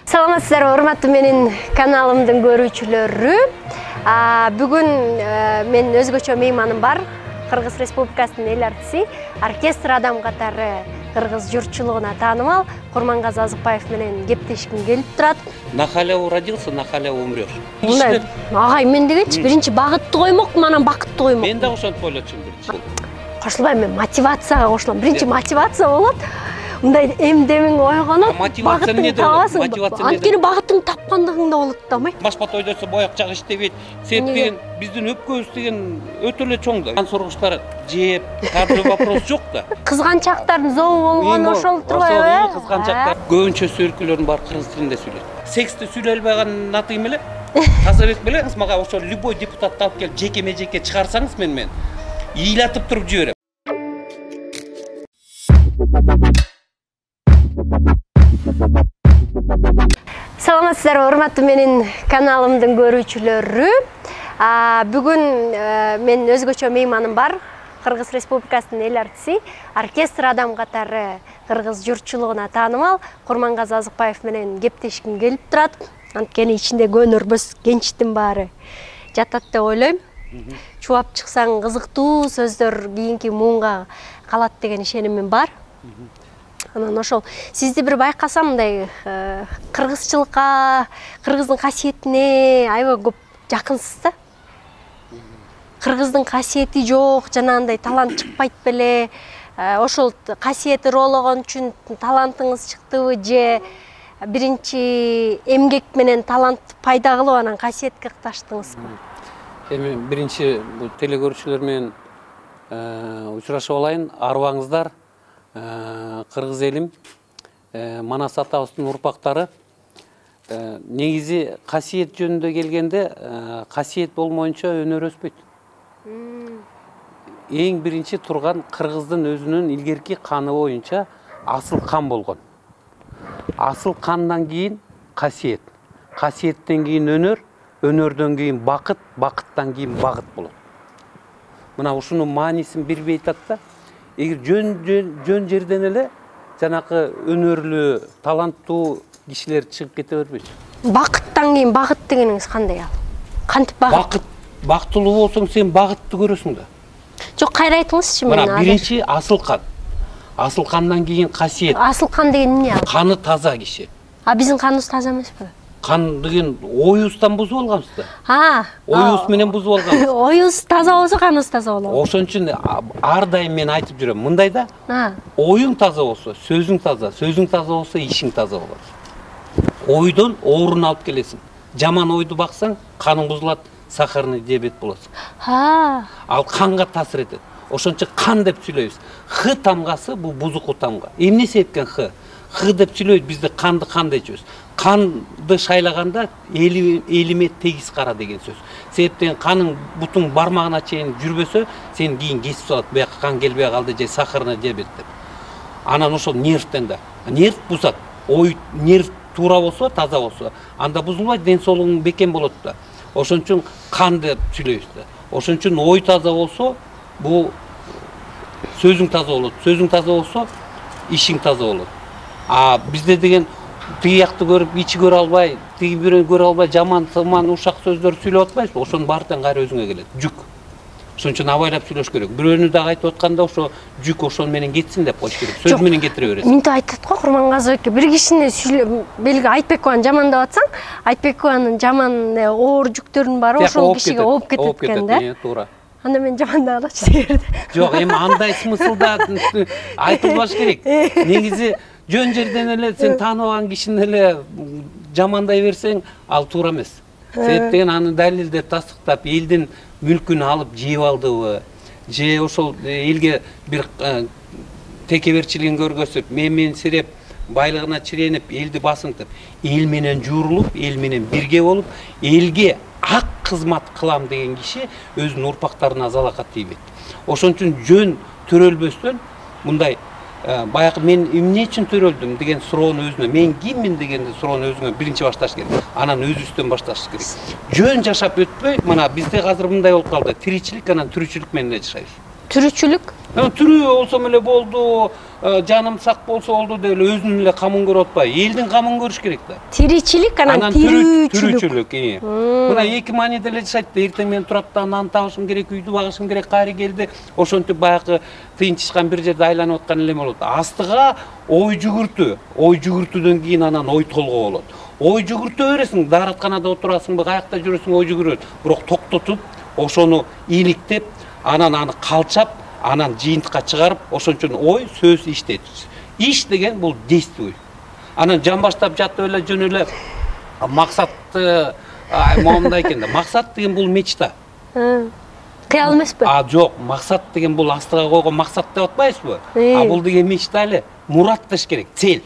Саламатсыздарбы, урматтуу менин каналымдын көрүүчүлөрү. Бүгүн мен өзгөчө мейманым бар. Кыргыз Республикасынын эл артиси, оркестр адам катары кыргыз журтчулугуна таанымал Курмангазы Азыкбаев менен кептешким келип турат. На халяву родился, на халяву умрёшь. Мындай, агай мен дегенчи биринчи багытты коймокмун, анан бакытты коймок. Мен да ошентип ойлочумун биринчи. Кошулбайм, мен мотивацияга кошулам. Биринчи мотивация болот. Мындай эмдемиң ойгонот. Мотивация эмне табасың. Анткени багытың тапкандыгыңда болот да, ой. Башпат ойдосо бояк жак иштебейт. Себеп деген биздин өпкөбүз деген өтө эле чоң да. Сургучтар жеп, кадр вопрос жок да. Кызганчактардын зобу болгону ошол турбайбы, э? Кызганчактар көбүнчө сөөлкүлөрдүн баары кыргыз тилинде сүйлөйт. Сексти сүйлөй албаган натыйм эле. Тазабек белеңиз, мага ошо любой депутатты алып келип жеке-межеке чыгарсаңыз мен ыйлатып туруп жиберем. Саламатсыздарбы, урматтуу менин каналымдын көрүүчүлөрү. Бүгүн мен өзгөчө мейманым бар. Кыргыз Республикасынын эл артиси, оркестр адам катары кыргыз журтчулугуна таанымал Курмангазы Азыкбаев менен кептешким келип турат. Анткени ичиндеги өнөрбөс кенчтин баары жатат деп ойлойм. Чубап чыксаң кызыктуу сөздөр кийинки муунга калат деген ишенимим бар. Анан ошол сизди бир байкасам, мындай кыргызчылыкка, кыргыздын касиетине аябай көп жакынсыз да. Кыргыздын касиети жок, жанагындай талант чыкпайт беле. Ошол касиети роологон үчүн талантыңыз чыктыбы же биринчи эмгек менен талант пайда кылып анан касиетке катташтыңызбы? Эми биринчи бул телекөрүүчүлөр менен учурашып алайын. Арыбаңыздар. Кыргыз элим, Манас атабыздын урпактары. Негизи касиет жөнүндө келгенде, касиет болмоюнча өнөр өспөйт. Эң биринчи турган кыргыздын өзүнүн илгерки каны боюнча асыл кан болгон. Асыл кандан кийин касиет, касиеттен кийин өнөр, өнөрдөн кийин бакыт, бакыттан кийин багыт болот. Мына ушунун маанисин бирбей айтат да. Эгер жөн жерден эле жанакы өнөрлүү, таланттуу кишилер чыгып кете бербейт. Бакыттан кийин багыт дегениңиз кандай ал? Кантип багыт? Бактылуу болсоң сен багытты көрөсүң да. Жок, кайра айтыңызчы мени. Мына биринчи асыл кан. Асыл кандан кийин касиет. Асыл кан деген эмне ал? Каны таза киши. Биздин каныбыз таза эмеспи? Кан деген оюбуздан бузуп алганбыз да. Оюбуз менен бузуп алганбыз. Оюбуз таза болсо каныбыз таза болот. Ошон үчүн ар дайым мен айтып жүрөм, мындай да. Оюң таза болсо, сөзүң таза болсо, ишиң таза болот. Ойдон оорун алып келесиң. Жаман ойду баксаң, каның бузулат, сахарный диабет болосуң. Ал канга таасир этет. Ошончо кан деп сүйлөйбүз. Х тамгасы бул бузуку тамга. Эмне себептен Х? Х деп сүйлөйт, бизде канды кан дейчүбүз. Канды шайлаганда элиме тегиз кара деген сөз. Себептен каның бутуң бармагына чейин жүрбөсө, сен кийин кесип салат, бияка кан келбей калды же сахарный диабет деп. Анан ошол нервтен да. Нерв бузат. Ой, нерв туура болсо, таза болсо, анда бузулбайт, ден соолугуң бекем болот да. Ошон үчүн кан деп сүйлөйбүз да. Ошон үчүн ой таза болсо, бул сөзүң таза болот. Сөзүң таза болсо, ишиң таза болот. Бизде деген тиги якты көрүп, ичи көрө албай, тиги бирөөнү көрө албай, жаман ушак сөздөр сүйлөп атпайсызбы? Ошонун баардыгы кайра өзүңө келет. Жүк. Ошон үчүн абайлап сүйлөш керек. Бирөөнү дагы айтып атканда ошо жүк ошон менен кетсин деп коюш керек. Сөз менен кетире бересиң. Мынтип айтат го Курмангазы эке, бир кишини белги Айтбекованы жамандап атсаң, Айтбекованын жаман оор жүктөрүнүн баары ошол кишиге ооп кетет экен да. Туура. Анда мен жамандап алачы дегерди. Жок, эми андай смыслда айтылбаш керек. Негизи жөн жерден эле сен тааныбаган кишини эле жамандай берсең, ал туура эмес. Себеп деген аны далилдеп, тастыктап, элдин мүлкүн алып жеп алдыбы, же ошол элге бир текеберчилигин көргөзүп, менсиреп, байлыгына чиренип, элди басынтып, эл менен жуурулуп, эл менен бирге болуп, элге ак кызмат кылам деген киши өзүнүн урпактарына залакат тийбейт. Ошон үчүн жөн төрөлбөстөн мындай баягы мен эмне үчүн төрөлдүм деген суроону өзүнө, мен киммин деген суроону өзүңө биринчи башташ керек. Анан өзүбүздөн башташ керек. Жөн жашап өтпөй, мына бизде азыр мындай болуп калды. Тиричилик анан түрүчүлүк менен жашайбыз. Түрүчүлүк? Тирүү болсом эле болду, жаным сак болсо болду деп эле өзүнүн эле камын көрүп атпайбы. Элдин камын көрүш керек да. Тиричилик анан тирүүчүлүк. Мына эки мааниде эле жашайт да. Эртең менен турат да, нан табышым керек, үйдү багышым керек, кайры келди. Ошентип баягы тыйынчышкан бир жерде айланып аткан эле болот. Астыга ой жүгүртүү. Ой жүгүртүүдөн кийин анан ой толгоо болот. Ой жүгүртө бересиң, дааратканада отурасыңбы, каякта жүрөсүң, ой жүгүрөт. Бирок токтотуп, ошону иликтеп, анан аны калчап, анан жыйынтыкка чыгарып, ошон үчүн ой, сөз, иштейт. Иш деген бул действуй. Анан жан баштап жатып эле жөн эле максатты момундай экен да. Максат деген бул мечта. Кыял эмеспи? Жок, максат деген бул астыга койгон максат деп атпайсызбы? Бул деген мечта эле. Мурат деш керек, цель.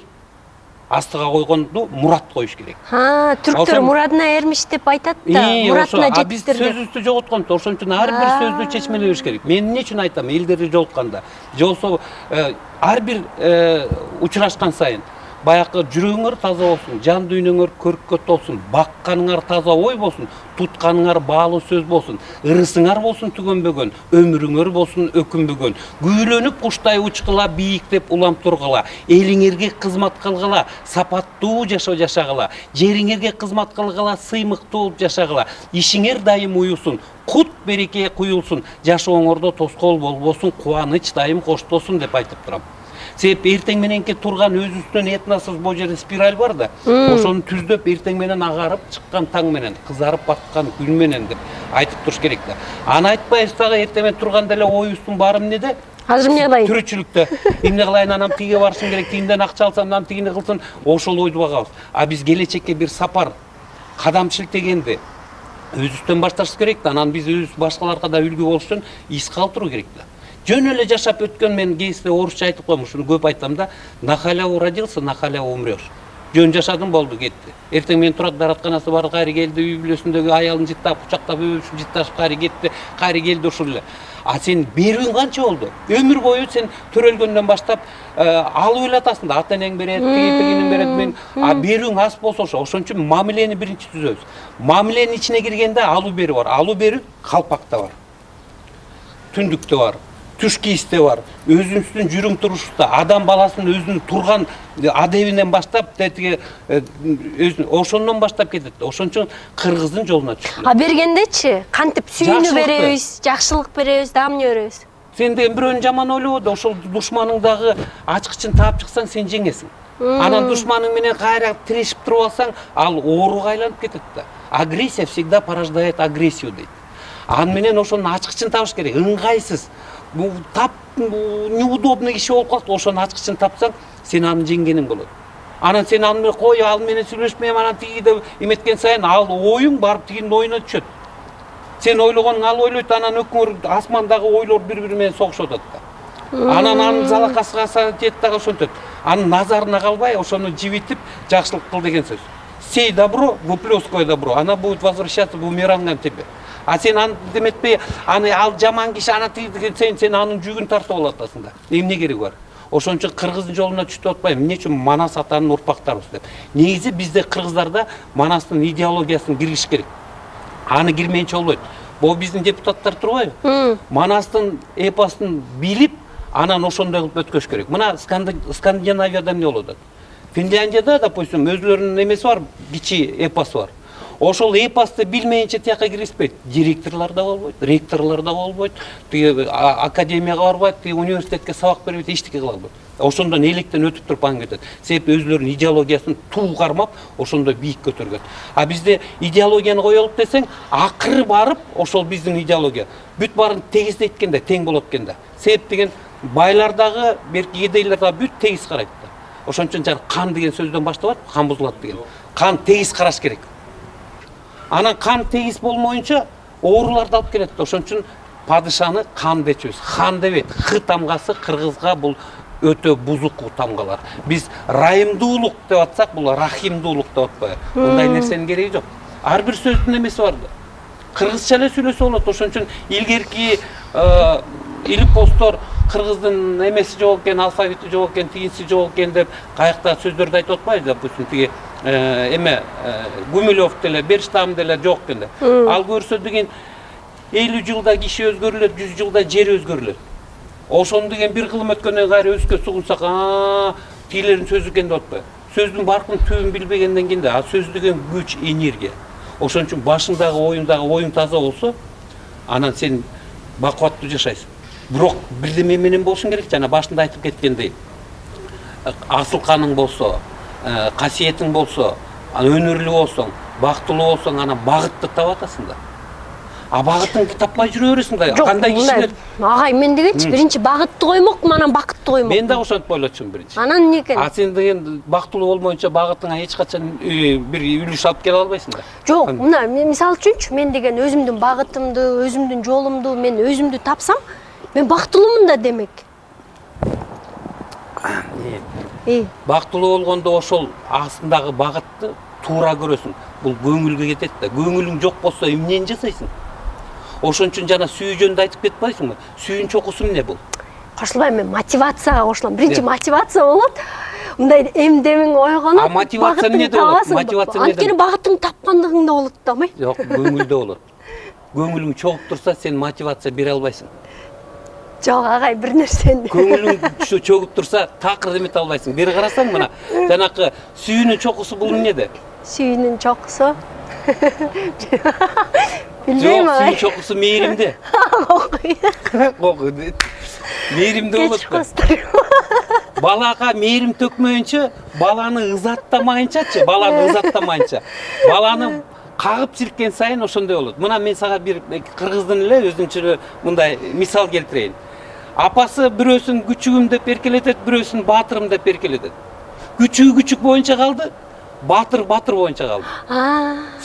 Астыга койгонду мурат коюш керек. Түрктөр мурадына эрмиш деп айтат да, муратына жетиптир деп. Биз сөзүбүздү жоготкон, ошон үчүн ар бир сөздү чечмелебиш керек. Мен эмне үчүн айтам, элдерди жолукканда, же болсо ар бир учурашкан сайын баягы жүрөгүңөр таза болсун, жан дүйнөңөр көрккө толсун, бакканыңар таза ой болсун, тутканыңар баалуу сөз болсун, ырысыңар болсун түгөнбөгөн, өмүрүңөр болсун өкүнбөгөн, күүлөнүп куштай учкула, бийиктеп улам тургула, элиңерге кызмат кылгыла, сапаттуу жашоо жашагыла, жериңерге кызмат кылгыла, сыймыктуу жашагыла, ишиңер дайым уюсун, кут береке куюлсун, жашооңордо тоскоол болбосун, кубаныч дайым коштосун деп айтып турам. Себеби эртең мененки турган өзүбүздүн этносубуз бул жерде спираль бар да. Ошону түздөп эртең менен агарып чыккан таң менен, кызарып баткан күн менен деп айтып туруш керек да. Аны айтпайбыз дагы эртең менен турганда эле оюбуздун баары эмнеде? Азыр эмне кылайын? Түрүчүлүктө. Эмне кылайын, анан тиге барышым керек, тигинден акча алсам, анан тигини кылсын, ошол ойду багабыз. Биз келечекке бир сапар, кадам шилтегенди өзүбүздөн башташыбыз керек да. Анан биз өзүбүз башкаларга да үлгү болуш үчүн из калтыруу керек да. Жөн эле жашап өткөн, мен кейинде орусча айтып коем, ушуну көп айтам да. На халяву родился, на халяву умрёшь. Жөн жашадым, болду, кетти. Эртең менен турат, дааратканасы бар, кайры келди, үй бүлөсүндөгү аялын жыттап, кучактап, өбүшүп, жытташып кайры кетти, кайры келди ушул эле. Сен берүүң канча болду? Өмүр бою сен төрөлгөндөн баштап алып эле атасың да, ата энең берет, тигинин берет, мен берүүң аз болсо ошон үчүн мамилени биринчи түзөбүз. Мамиленин ичине киргенде алуу берүү бар. Алуу берүү калпакта бар. Түндүктө бар. Түш кийисте бар, өзүбүздүн жүрүм турушубузда, адам баласынын өзүнүн турган адебинен баштап, ошондон баштап кетет. Ошон үчүн кыргыздын жолуна түшкүлө. Бергендечи, кантип сүйүүнү беребиз, жакшылык беребиз, дагы эмне беребиз? Сен деген бирөөнү жаман ойлобо да, ошол душманың дагы ачкычын таап чыксаң, сен жеңесиң. Анан душманың менен кайра тирешип туруп алсаң, ал ооруга айланып кетет да. Агрессия всегда порождает агрессию дейт. Аны менен ошонун ачкычын табыш керек, ыңгайсыз. Тап неудобный киши болуп калат, ошонун ачкычын тапсаң, сен аны жеңгениң болот. Анан сен аны менен кой, ал менен сүйлөшпөйм, анан тиги деп эметкен сайын, ал оюң барып тигинин оюна түшөт. Сен ойлогонуң ал ойлойт, анан өкүңөр асмандагы ойлор бири-бири менен согушуп атат да. Анан анын залакасыга тиет дагы ошентет. Анын назарына калбай, ошону жибитип, жакшылык кыл деген сөз. Сей добро, выплескивай добро, она будет возвращаться бумерангом тебе. Сен аны деметпей, ал жаман киши, ана тиги, сен анын жүгүн тартып алып атасың да. Эмне кереги бар? Ошон үчүн кыргыздын жолуна түштүп атпайм. Эмне үчүн Манас атанын урпактарыбыз деп. Негизи бизде кыргыздарда Манастын идеологиясын киргизиш керек. Аны кирмейинче болбойт. Бул биздин депутаттар турбайбы? Манастын эпосун билип, анан ошондой кылып өткөзүш керек. Мына Скандинавияда эмне болуп атат? Финляндияда, допустим, өзүлөрүнүн эмеси бар, кичи эпосу бар. Ошол эпосты билмейинче тияка киргизбейт. Директорлор да болбойт, ректорлор да болбойт, академияга барбайт, университетке сабак бербейт, эчтеке кыла албайт. Ошондон электен өтүп туруп аны кетет. Себеби өзүлөрүнүн идеологиясын туу кармап, ошондой бийик көтөргөн. Бизде идеологияны коелук десең, акыры барып, ошол биздин идеология бүт баарын тегиздейткенде тең болот экен да. Себеп деген байлардагы, берки кедейлердагы бүт тегиз карайт да. Ошон үчүн жана кан деген сөздөн башталат, кан бузулат деген. Кан тегиз караш керек. Анан кан тегиз болмоюнча ооруларды алып келет. Ошон үчүн падышаны кан дечүбүз. Хан дебейт. Х тамгасы кыргызга бул өтө бузук тамгалар. Биз райымдуулук деп атсак, бул рахимдуулук деп атпайбы? Мындай нерсенин кереги жок. Ар бир сөздүн эмеси бар да. Кыргызча эле сүйлөсө болот. Ошон үчүн илгерки илипостор кыргыздын эмеси жок экен, алфавити жок экен, тигиси жок экен деп каякта сөздөрдү айтып атпайбы? Допустим, тиги эме Гумилев деле, Берштам деле жок экен. Ал көрсө деген 50 жылда киши өзгөрүлөт, 100 жылда жер өзгөрүлөт. Ошону деген бир кылым өткөндөн кайра өскө сугунсак, тилердин сөзү экен деп атпайбы? Сөздүн баркын түбүн билбегенден кийин да, сөз деген күч, энергия. Ошон үчүн башыңдагы оюң таза болсо, анан сен бакубаттуу жашайсың. Бирок бирдеме менен болушуң керек, жана башында айтып кеткендей. Асыл каның болсо, касиетиң болсо, өнүрлүү болсоң, бактылуу болсоң, анан багытты таап атасың да. Багытыңды таппай жүрө бересиң да. Кандай кишилер? Агай, мен дегенчи биринчи багытты коймокмун, анан бакытты коймокмун. Мен да ошентип ойлочумун биринчи. Анан эмне экен? Сен деген бактылуу болмоюнча багытыңа эч качан бир үлүш алып келе албайсың да. Жок, мына мисалы үчүнчү, мен деген өзүмдүн багытымды, өзүмдүн жолумду, мен өзүмдү тапсам, мен бактылуумун да демек. Бактылуу болгондо ошол астындагы багытты туура көрөсүң. Бул көңүлгө кетет да. Көңүлүң жок болсо эмнени жасайсың? Ошон үчүн жана сүйүү жөнүндө айтып кетпайсыңбы? Сүйүүнүн чокусу эмне бул? Кошулбайм, мен мотивацияга кошулам. Биринчи мотивация болот. Мындай эмдемиң ойгонот. Мотивация эмнеде болот? Мотивация эмнеде? Анткени багытың тапкандыгыңда болот да, май. Жок, көңүлдө болот. Көңүлүң чогуп турса, сен мотивация бере албайсың. Жок, агай, бир нерсени. Көңүлүң чогуп турса, такыр эмете албайсың. Бери карасаң, мына, жанакы сүйүүнүн чокусу бул эмнеде? Сүйүүнүн чокусу. Билбейм, сүйүүнүн чокусу мээримде. Мээримде болот. Балага мээрим төкмөйүнчө, баланы ызаттамайынчачы, баланы кагып силкен сайын ошондой болот. Мына мен сага бир кыргыздын эле өзүнчө мындай мисал келтирейин. Апасы бирөөсүн күчүгүм деп эркелетет, бирөөсүн баатырым деп эркелетет. Күчүк боюнча калды, баатыр боюнча калды.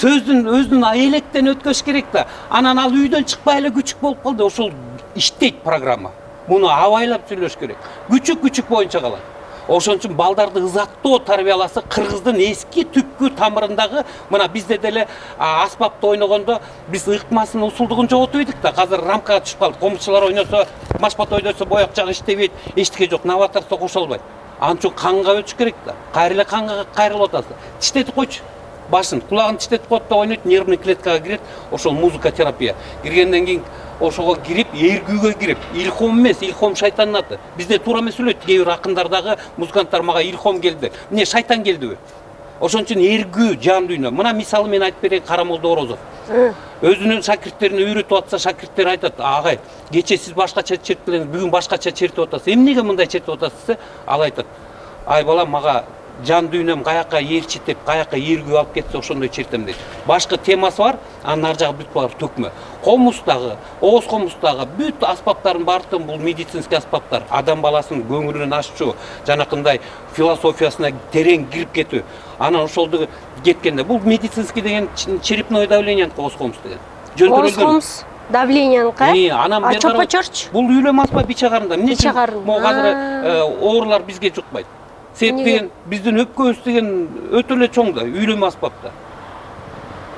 Сөздүн өзүнүн электен өткөш керек да. Анан ал үйдөн чыкпай эле күчүк болуп калды. Ошол иштейт программа. Муну абайлап сүйлөш керек. Күчүк боюнча калат. Ошон үчүн балдарды ызаттоо тарбияласа, кыргыздын эски түпкү тамырындагы, мына бизде деле аспапты ойногондо биз ыкмасынын усулдугун жоготуп эдик да. Азыр рамкага түшүп калды. Комузчулар ойносо, машпат ойносо бояк жагы иштебейт, эчтеке жок, новаторство кошо албайт. Ан үчүн канга өтүш керек да. Кайра эле канга кайрылып атасың. Тиштетип койчу. Башын, кулагын тиштетип коет да, ойнойт, нервный клеткага кирет. Ошол музыка терапия. Киргенден кийин ошого кирип, эргүүгө кирип, илхом эмес, илхом шайтандын аты. Бизде туура эмес сүйлөйт, кээ бир акындардагы музыканттар мага илхом келди. Эмне шайтан келдиби? Ошон үчүн эргүү, жан дүйнө. Мына мисалы мен айтып берейин, Карамолдо Орозов. Өзүнүн шакирттерине үйрөтүп атса, шакирттер айтат: "Агай, кече сиз башкача чертилдиңиз, бүгүн башкача чертип атасыз. Эмнеге мындай чертип атасыз?" десе, ал айтат: "Ай балам, мага жан дүйнөм каяка ээрчитип, каяка эргүү алып кетсе, ошондой чертем" дейт. Башкы темасы бар, анын ар жагы бүт бар төкмө. Комуздагы, ооз комуздагы бүт аспаптардын баардыгы бул медицинский аспаптар. Адам баласынын көңүлүн аччу, жанакындай философиясына терең кирип кетүү. Анан ошолду кеткенде бул медицинский деген черепное давление ооз комуз деген. Ооз комуз давленияныкы? Анан чопочорчу. Бул үйлөм аспай бичагарында. Эмне үчүн? Могу азыр оорулар бизге жукпайт. Себеп деген биздин өпкөбүз деген өтө эле чоң да, үйлөм аспапта.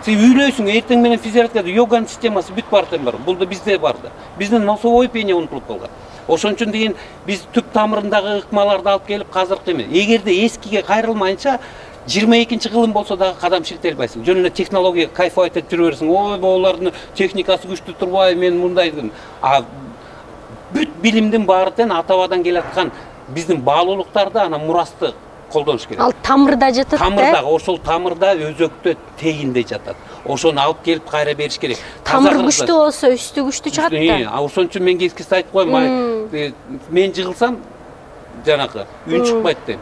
Сен үйлөйсүң, эртең менен физиология, йоганын системасы бүт бар. Бул да бизде бар да. Биздин носовой пение унутулуп калган. Ошон үчүн деген биз түп тамырындагы ыкмаларды алып келип казыркы эме. Эгерде эскиге кайрылмайынча 22-кылым болсо дагы кадам шилтей албайсың. Жөн эле технология кайфовать этип жүрө бересиң. Ой, булардын техникасы күчтүү турбай, мен мындай дедим. Бүт билимдин баары тең ата-бабадан келаткан биздин баалуулуктарды, анан мурасты колдонуш керек. Ал тамырда жатат. Тамырда, ошол тамырда өзөктө тегинде жатат. Ошону алып келип кайра бериш керек. Тамыр күчтүү болсо, үстү күчтүү чыгат да. Ошон үчүн мен кескиси айтып коем, мен жыгылсам жанакы үн чыкпайт дейм.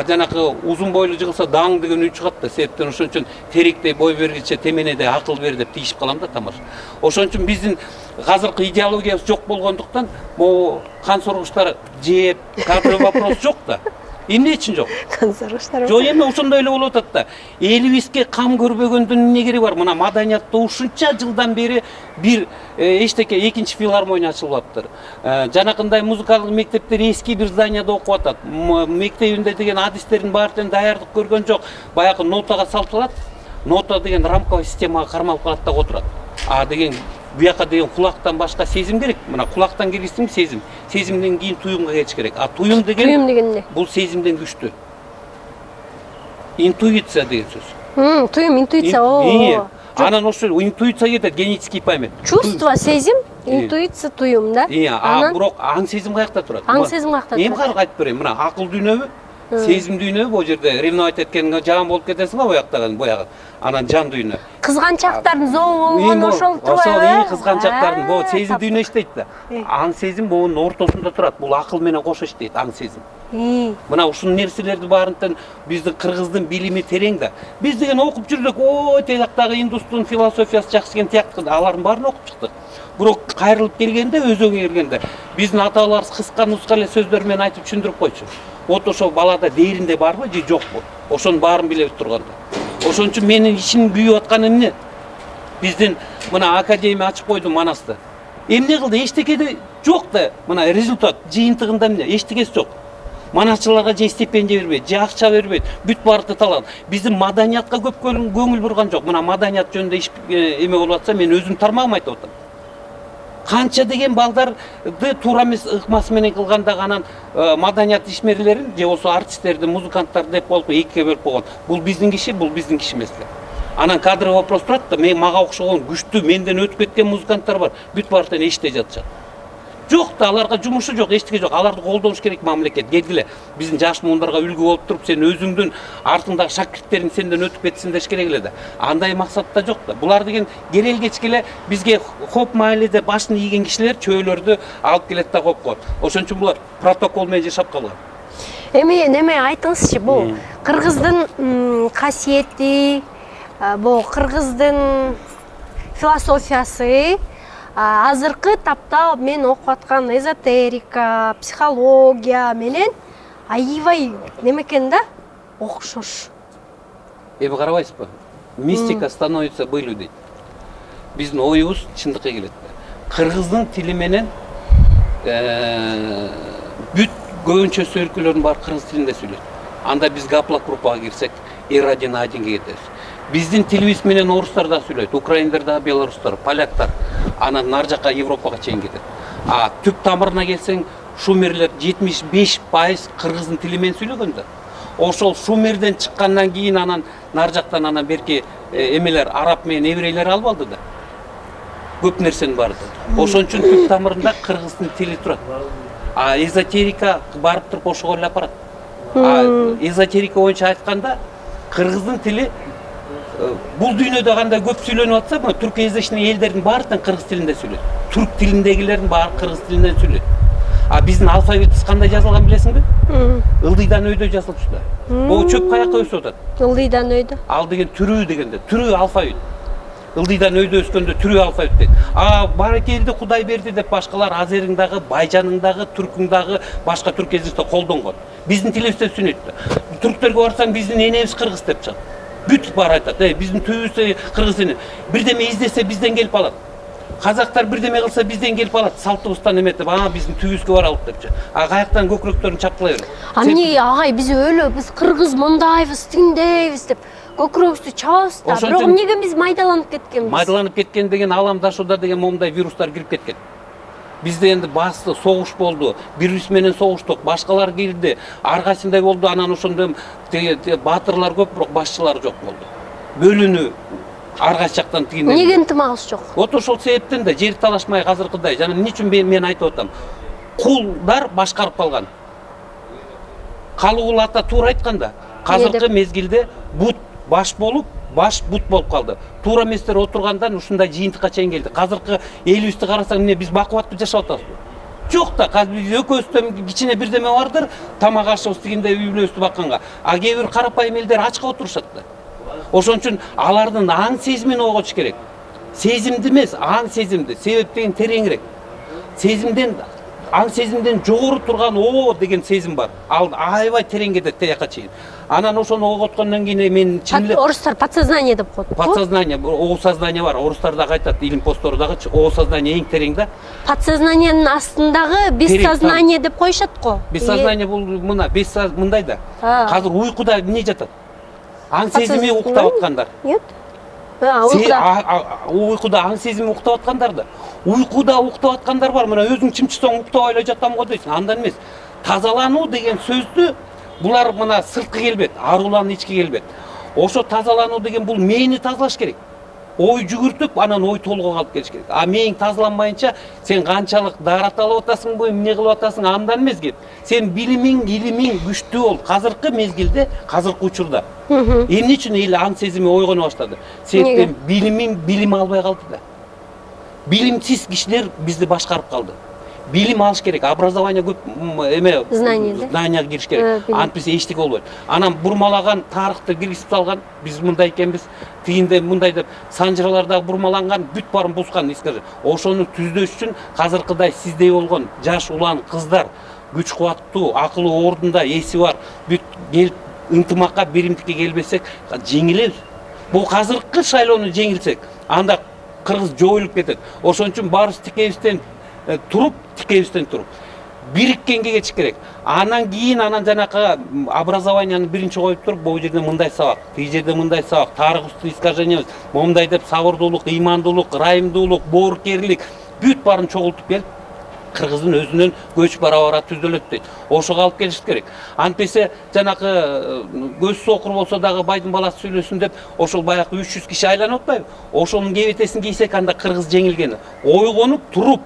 Жанакы узун бойлуу жыгылса даң деген үн чыгат да. Себептен ошон үчүн теректей бой бергиче теменеде акыл бер деп тийишип калам да тамыр. Ошон үчүн биздин азыркы идеологиябыз жок болгондуктан, могу кан соргучтар жеп, кадровый вопрос жок да. Эмне үчүн жок? Кан соргучтар. Жок, эми ошондой эле болуп атат да. Элибизге кам көрбөгөндүн эмне кереги бар? Мына маданиятта ушунча жылдан бери бир эчтеке экинчи филармония ачылып атыптыр. Жанакындай музыкалык мектептер эски бир зданияда окуп атат. Мектебинде деген адистердин баардыгын даярдык көргөн жок. Баягы нотага салтылат. Нота деген рамковый системага кармалып калат да отурат. Деген буяка деген кулактан башка сезим керек. Мына кулактан киргизсең сезим. Сезимден кийин туюмга кетиш керек. Туюм деген эмне? Бул сезимден күчтүү. Интуиция деген сөз. Туюм, интуиция. Анан ошо интуиция кетет, генетический память. Чувство, сезим, интуиция, туюм да. Бирок аң сезим каякта турат? Аң сезим каякта турат? Эми карап айтып берейин. Мына акыл дүйнөбү, сезим дүйнөбү, бул жерде ревновать эткенге жаман болуп кетесиң го боягы. Анан жан дүйнө. Кызганчактардын зоо болгон ошол турбайбы? Ошол кызганчактардын бул сезим дүйнө иштейт да. Аң сезим бунун ортосунда турат. Бул акыл менен кошо иштейт, аң сезим. Мына ушул нерселерди баарынтан биздин кыргыздын билими терең да. Биз деген окуп жүрдүк, ой, тияктагы индустун философиясы жакшы экен, тияктагы алардын баарын окуп чыктык. Бирок кайрылып келгенде, өзөгө келгенде, биздин ата-бабаларыбыз кыска нуска эле сөздөр менен айтып түшүндүрүп койчу. Вот ошол балада дээринде барбы же жокпу? Ошонун баарын билебиз турганда. Ошон үчүн менин ичим күйүп атканы эмне? Биздин мына академия ачып койду Манасты. Эмне кылды? Эчтекеде жок да. Мына результат жыйынтыгында эмне? Эчтекеси жок. Манасчыларга же стипендия бербейт, же акча бербейт, бүт баарды талан. Биздин маданиятка көп көңүл бурган жок. Мына маданият жөнүндө иш эме болуп атса, мен өзүм тармагым айтып атам. Канча деген балдарды туура эмес ыкмасы менен кылганда анан маданият ишмерлерин же болсо артисттерди, музыканттарды деп болуп экиге бөлүп койгон. Бул биздин киши эмес да. Анан кадровый вопрос турат да, мага окшогон күчтүү, менден өтүп кеткен музыканттар бар. Бүт баардыгын эште жатышат. Жок да, аларга жумушу жок, эчтеке жок. Аларды колдош керек мамлекет. Келгиле, биздин жаш муундарга үлгү болуп туруп, сен өзүңдүн артыңдагы шакирттериң сенден өтүп кетсин деш керек эле да. Андай максатта жок да. Булар деген керел кечкеле бизге хоп майледе башын ийген кишилер чөөлөрдү алып келет да коюп коет. Ошон үчүн булар протокол менен жашап калган. Эми неме айтыңызчы, бул кыргыздын касиети, бул кыргыздын философиясы азыркы тапта мен окуп аткан эзотерика, психология менен аябай неме экен да, окшош. Эми карабайсызбы? Мистика становится былью дейт. Биздин оюбуз чындыкка келет. Кыргыздын тили менен бүт көбүнчөсү өлкөлөрдүн баары кыргыз тилинде сүйлөйт. Анда биз гаплак группага кирсек, R1-1-ге кетебиз. Биздин тилибиз менен орустар да сүйлөйт, украиндар да, белорустар, поляктар. Анан нар жака Европага чейин кетет. Түп тамырына келсең, шумерлер 75% кыргыздын тили менен сүйлөгөн да. Ошол шумерден чыккандан кийин анан нар жактан анан берки эмелер араб менен еврейлер алып алды да. Көп нерсенин баары. Ошон үчүн түп тамырында кыргыздын тили турат. Эзотерика барып туруп ошого эле апарат. Эзотерика боюнча айтканда, кыргыздын тили бул дүйнөдө кандай көп сүйлөнүп атса, мына түркияздашный элдердин баардыгы кыргыз тилинде сүйлөйт. Түрк тилиндегилердин баары кыргыз тилинен сүйлөйт. Биздин алфавитибиз кандай жазылган билесиңби? Ылдыйдан өйдө жазылыпчы да. Бул чөп каяка өсүп атат? Ылдыйдан өйдө. Ал деген түрү дегенде, түрү алфавит. Ылдыйдан өйдө өскөндө түрү алфавит дейт. Баракелди Кудай берди деп башкалар Азериңдагы, Байжаныңдагы, Түркүңдагы башка түрк языкта колдонгон. Биздин тилибизде сүнөйт да. Түрктөргө барсаң биздин энебиз кыргыз деп чыгат. Бүт баары айтат, биздин түбүбүз кыргыз эне. Бирдеме издесе бизден келип алат. Казактар бирдеме кылса бизден келип алат. Салтыбыздан эметип, биздин түбүбүзгө баралык депчи. Каяктан көкүрөктөрүн чапкылай берет. Эмне агай биз өлө, биз кыргыз мындайбыз, тиндейбиз деп көкүрөгүбүздү чабабыз да. Бирок эмнеге биз майдаланып кеткенбиз? Майдаланып кеткен деген аламдашууда деген момундай вирустар кирип кеткен. Бизде энди басты согуш болду, бири-бириз менен согуштук, башкалар кирди, ар кайсындай болду, анан ошондо баатырлар көп, бирок башчылар жок болду. Бөлүнүү ар кайсы жактан тигинден. Эмнеге ынтымагыбыз жок? Вот ошол себептен да жер талашмай азыркыдай. Жана эмне үчүн мен айтып атам? Кулдар башкарып калган. Калыгул ата туура айтканда, азыркы мезгилде бут баш болуп, баш бут болуп калды. Туура эместер отургандан ушундай жыйынтыкка чейин келди. Азыркы элибизди карасаң, эмне биз бакубаттуу жашап атабызбы? Жок да, биз экөөбүздөн кичине бирдеме бардыр, тамак ашыбыз тигинде үй бүлөбүздү бакканга. Кээ бир карапайым элдер ачка отурушат да. Ошон үчүн алардын аң сезимин ойготуш керек. Сезимди эмес, аң сезимди. Себеп деген тереңирээк. Сезимден, аң сезимден жогору турган деген сезим бар. Ал аябай терең кетет тияка чейин. Анан ошону ойготкондон кийин мен чынлап орустар подсознание деп коет. Подсознание, сознание бар. Орустар дагы айтат, илим постору дагы сознание эң терең да. Подсознаниянын астындагы бессознание деп коюшат го. Бессознание бул мына, мындай да. Азыр уйкуда эмне жатат? Аң сезими уктап аткандар. Нет. Уйкуда аң сезими уктап аткандар да. Уйкуда уктап аткандар бар. Мына өзүң чымчысаң уктабай эле жатам го дейсиң. Андан эмес. Тазалануу деген сөздү булар мына сырткы келбет, арулан ички келбет. Ошо тазалануу деген бул мээни тазалаш керек. ой жүгүртүп, анан ой толгойго алып келиш керек. А мээң тазаланбайынча сен канчалык даарат алып атасыңбы, эмне кылып атасың, андан эмес кеп. Сен билимиң, илимиң күчтүү бол. Азыркы мезгилде, азыркы учурда. Эмне үчүн эл ан сезими ойгоно баштады? Себептен билим албай калды да. Билимсиз кишилер бизди башкарып калды. Билим алыш керек, образование көп знания кириш керек. Антпесе эчтеке болбойт. Анан бурмалаган тарыхты киргизип салган, биз мындай экенбиз, тигинде мындай деп санжыраларда бурмаланган, бүт баарын бузган, скажи. Ошону түздөш үчүн азыркыдай сиздей болгон жаш улан кыздар, күч кубаттуу, акылы ордунда, эси бар, бүт келип ынтымакка, биримдикке келбесек, жеңилебиз. Бул азыркы шайлоону жеңилсек, анда кыргыз жоюлуп кетет. Ошон үчүн баарыбыз тикебизден туруп, бириккенге кетиш керек. Анан кийин жанакы образованияны биринчи коюп туруп, бул жерде мындай сабак, тиги жерде мындай сабак, тарых үстү искажение, момундай деп сабырдуулук, ыймандуулук, ырайымдуулук, боорукерлик бүт баарын чогултуп келип, кыргыздын өзүнөн көч бара түзөлөт дейт. Ошого алып келиш керек. Антпесе жанакы көз сокур болсо дагы байдын баласы сүйлөсүн деп, ошол баягы 300 киши айланып атпайбы? Ошонун кебетесин кийсек, анда кыргыз жеңилген. Ойгонуп туруп,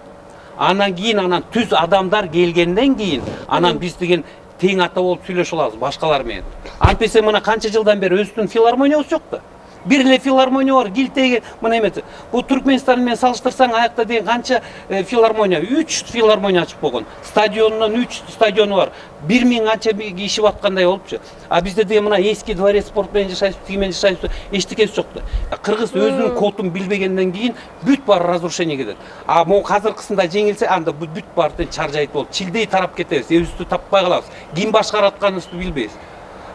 анан кийин түз адамдар келгенден кийин анан биз деген тең ата болуп сүйлөшө алабыз башкалар менен. Антпесе мына канча жылдан бери өзүбүздүн филармониябыз жок да. Бир эле филармония бар, Килтеги мына эмети. Бул Түркмөнстан менен салыштырсаң, аякта деген канча филармония, 3 филармония ачып койгон. Стадионунан 3 стадиону бар. 1000 анча иши аткандай болупчу. А бизде деген мына эски дворец спорт менен жашайбыз, тиги менен жашайбыз, эчтекеси жок да. Кыргыз өзүнүн кодун билбегенден кийин бүт баары разрушение кетет. А могу азыркысында жеңилсе, анда бүт баары чаржайт болуп, чилдей тарап кетебиз, өзүбүздү таппай калабыз. Ким башкарып атканыбызды билбейбиз.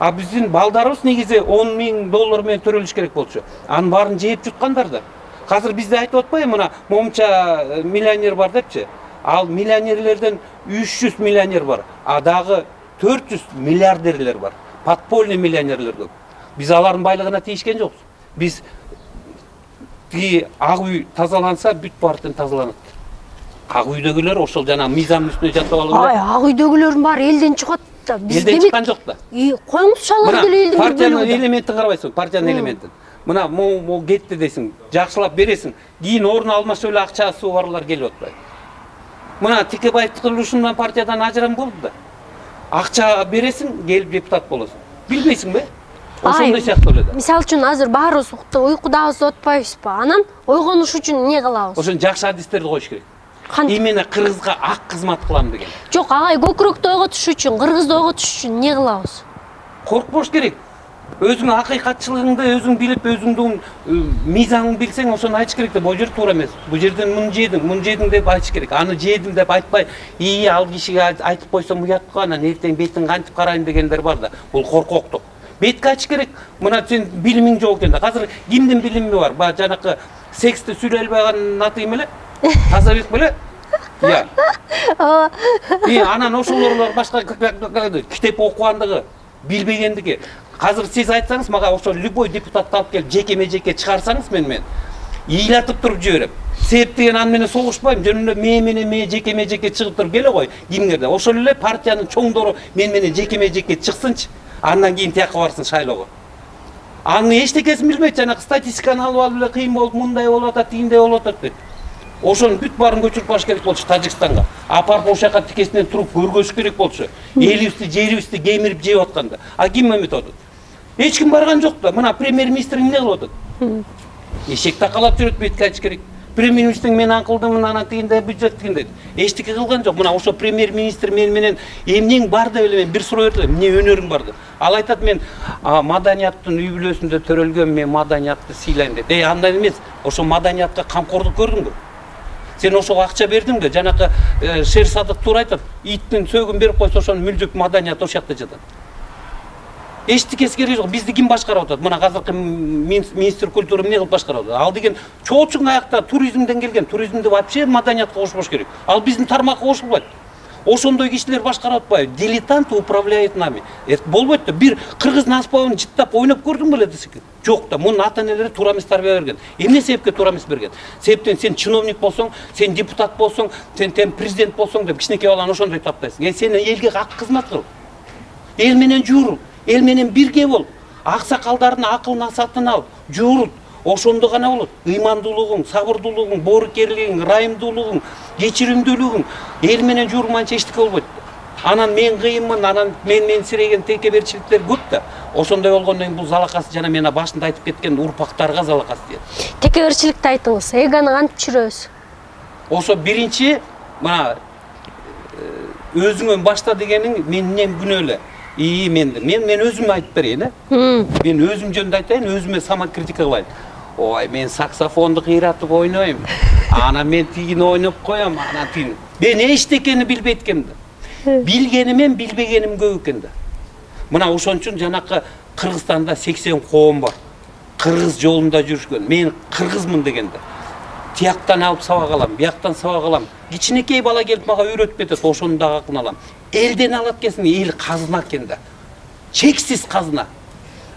А биздин балдарыбыз негизи $10,000 менен төрөлүш керек болчу. Анын баарын жеп жуткандар да. Азыр бизде айтып атпайбы, мына момунча миллионер бар депчи. Ал миллионерлерден 300 миллионер бар. А дагы 400 миллиардерлер бар. Подпольный миллионерлер көп. Биз алардын байлыгына тийишкен жокпуз. Биз тиги ак үй тазаланса, бүт баардын тазаланат. Ак үйдөгүлөр ошол жана мыйзамдын үстүнө жатып алып. Ак үйдөгүлөрдүн баары элден чыгат. Элден чыккан жок да. Коңуз шалар деле элдин партиянын элементин карабайсың, партиянын элементин. Мына могу кетти дейсиң, жакшылап бересиң, кийин орун алмашып эле акчасы барлар келип атпайбы. Мына Текебаев курулушунан партиядан ажырам болду да. Акча бересиң, келип депутат болосуң. Билбейсиңби? Ошондой сыяктуу эле да. Мисалы үчүн азыр баарыбыз уйкудабыз деп атпайбызбы? Анан ойгонуш үчүн эмне кылабыз? Ошон жакшы адистерди коюш керек. Именно кыргызга ак кызмат кылам деген. Жок, агай көкүрөктү ойготуш үчүн, кыргызды ойготуш үчүн эмне кылабыз? Коркпош керек. Өзүңүн акыйкатчылыгыңды өзүң билип, өзүңдүн мыйзамыңды билсең, ошону айтыш керек да. Бул жер туура эмес. Бул жерден муну жедиң деп айтыш керек. Аны жедим деп айтпай, ал кишиге айтып койсом уят го, анан эртең бетин кантип карайм дегендер бар да. Бул коркоктук. Бетке айтыш керек. Мына сен билимиң жок экен да. Азыр кимдин билими бар? Баягы жанакы сексти сүйлөй албайган аты ким эле? Тазабек беле? Я. Анан ошолор башка китеп окугандыгы, билбегендиги. Азыр сиз айтсаңыз, мага ошо любой депутатты алып келип жеке-жеке чыгарсаңыз менен ыйлатып туруп жиберем. Себеп деген аны менен согушпайм, жөнүндө мен жеке-жеке чыгып туруп келе кой кимдерде. Ошол эле партиянын чоңдору менен жеке-жеке чыксынчы, андан кийин тияка барсын шайлоого. Аны эчтекесин билбейт, жанагы статистиканы алып эле кыйын болуп, мындай болуп атат, тигиндей болуп атат дейт. Ошону бүт баарын көчүрүп баш керек болчу Тажикстанга. Апарып ошол жака тикесинен туруп көргөзүш керек болчу. Элибизди, жерибизди кемирип жеп атканда. А ким эметип атат? Эч ким барган жок да. Мына премьер-министр эмне кылып атат? Эшек такалап жүрөт, бетке айтыш керек. Премьер-министр мен анкылдым, анан тигиндей бюджет тигиндей. Эчтеке кылган жок. Мына ошо премьер-министр менен эмнең бар деп эле мен бир суроо бердим. Эмне өнөрүң бар деп. Ал айтат, мен маданияттын үй бүлөсүндө төрөлгөн, мен маданиятты сыйлайм дейт. Андай эмес. Ошо маданиятка камкордук көрдүңбү? Сен ошого акча бердиңби? Жанакы Шер Садык туура айтат. Иттин сөөгүн берип койсо, ошонун мүлдүк маданият ошол жакта жатат. Эчтекеси кереги жок. Бизди ким башкарып атат? Мына азыркы министр культуры эмне кылып башкарып атат? Ал деген чоочуң аякта туризмден келген. Туризмди вообще маданиятка кошпош керек. Ал биздин тармакка кошулбайт. Ошондой кишилер башкарып атпайбы? Дилетант управляет нами. Болбойт да. Бир кыргыздын аспабын жыттап ойноп көрдүң беле десек? Жок да. Мунун ата-энелери туура эмес тарбия берген. Эмне себепке туура эмес берген? Себептен сен чиновник болсоң, сен депутат болсоң, сен президент болсоң деп кичинекей баланы ошондой таптайсың. Сен элге ак кызмат кыл. Эл менен жуур, эл менен бирге бол. Аксакалдардын акылын сатын ал, жуурут. ошондо гана болот. Ыймандуулугуң, сабырдуулугуң, боорукерлигиң, ырайымдуулугуң, кечиримдүүлүгүң эл менен журманча эчтеке болбойт. Анан мен кыйынмын, анан мен менсиреген текеберчиликтер көп да. Ошондой болгондон кийин бул залакасы жана мен башында айтып кеткен урпактарга залакасы тиет. Текеберчиликти айтыңыз. Эгону кантип түшүрөбүз? Ошо биринчи мына өзүңөн башта дегениң менден күнөөлө. Мен өзүмө айтып берейин, Мен өзүм жөнүндө айтайын, өзүмө самокритика кылайын. Ой, мен саксофонду кыйратып ойнойм. Анан мен тигини ойноп коем, анан тигини. Мен эчтекени билбейт экенмин да. Билгеним менен билбегеним көп экен да. Мына ошон үчүн жанакы Кыргызстанда 80 коом бар. Кыргыз жолунда жүрүшкөн. Мен кыргызмын дегенде. Тияктан алып сабак алам, бияктан сабак алам. Кичинекей бала келип мага үйрөтүп кетет, ошону дагы акылын алам. Элден алат экенсиң, эл казына экен да. Чексиз казына.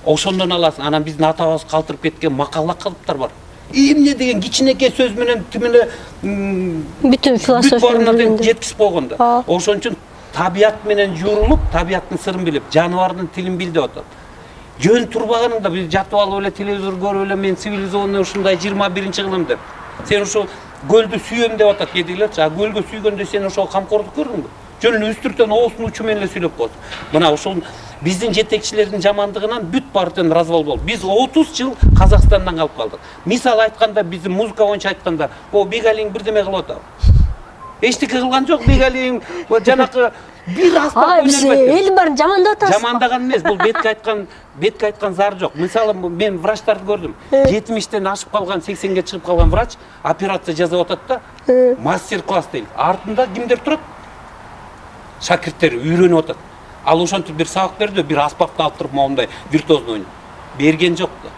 Ошондон аласың. Анан биздин атабыз калтырып кеткен макалла калыптар бар. Эмне деген кичинекей сөз менен тимине бүтүн философияны жеткизип койгон да. Ошон үчүн табият менен журулуп, табияттын сырын билип, жаныбардын тилин бил деп атат. Жөн турбаганыңда биз жатып алып эле телевизор көрүп эле мен цивилизованный ушундай 21-кылым деп. Сен ошол көлдү сүйөм деп атат кедейлерчи. А көлгө сүйгөндө сен ошол камкордук көрдүңбү? Жөн эле үстүртөн оосунун учу менен эле сүйлөп коет. Мына ошол биздин жетекчилердин жамандыгынан бүт партиян развал болду. Биз 30 жыл Казакстандан калып калдык. Мисал айтканда, биздин музыка боюнча айтканда, Бегалиң бирдеме кылып атат. Эчтеке кылган жок Бегалиң, жанакы бир аспап биз элдин баарын жамандап атабыз. Жамандаган эмес, бул бетке айткан зар жок. Мисалы мен врачтарды көрдүм. 70тен ашып калган, 80ге чыгып калган врач операция жасап атат да, мастер-класс дейт. Артында кимдер турат? Шакирттер үйрөнүп атат. Ал ошентип бир сабак берди, бир аспапты алып туруп моундай виртуозно ойнойт. Берген жок да.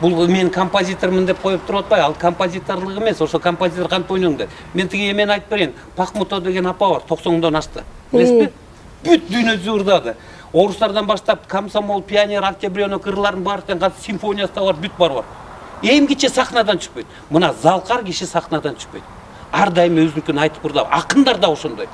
Бул мен композитормун деп коюп туруп атпайбы? Ал композиторлук эмес, ошо композитор кантип ойнойң деп. Мен тиги эмен айтып берейин. Пахмутова деген апа бар, 90-дон ашты. Билесизби? Бүт дүйнөсү ырдады. Орустардан баштап комсомол, пионер, октябрёнок ырларын баардыгын катып симфониясы да бар, бүт бар. Эң кичи сахнадан түшпөйт. Мына залкар киши сахнадан түшпөйт. Ар дайым өзүнүкүн айтып ырдап, акындар да ошондой.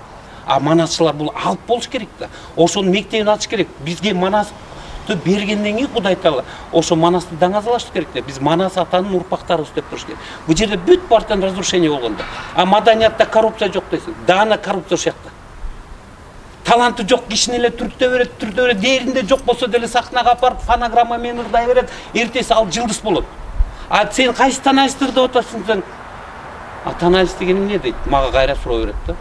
А манасчылар бул алып болуш керек да. Ошонун мектебин ачыш керек. Бизге манасты бергенден кийин Кудай Таала ошо манасты даңазалаш керек да. Биз манас атанын урпактарыбыз деп туруш керек. Бул жерде бүт партиян разрушение болгон да. А маданиятта коррупция жок дейсиң. Даана коррупция ошакта. Таланты жок кишини эле түртө берет, дээринде жок болсо деле сахнага апарып фонограмма менен ырдай берет, эртеси ал жылдыз болот. А сен кайсы таналистти ырдап атасың сен? А таналист деген эмне дейт? Мага кайра суроо берет да.